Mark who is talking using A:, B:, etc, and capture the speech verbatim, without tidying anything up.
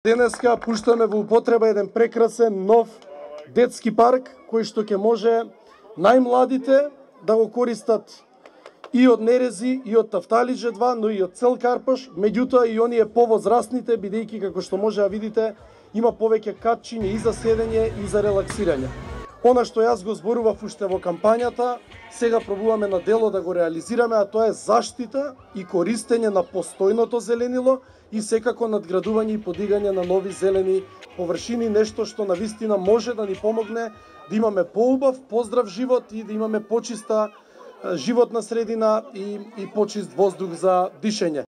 A: Денеска пуштаме во употреба еден прекрасен нов детски парк кој што ќе може најмладите да го користат и од Нерези, и од Тафталиџе два, но и од цел Карпаш, меѓутоа и оние повозрастните, бидејќи како што може да видите, има повеќе катчиња и за седење и за релаксирање. Она што јас го зборував уште во кампањата, сега пробуваме на дело да го реализираме, а тоа е заштита и користење на постојното зеленило и секако надградување и подигање на нови зелени површини, нешто што навистина може да ни помогне да имаме поубав, поздрав живот и да имаме почиста животна средина и, и почист воздух за дишење.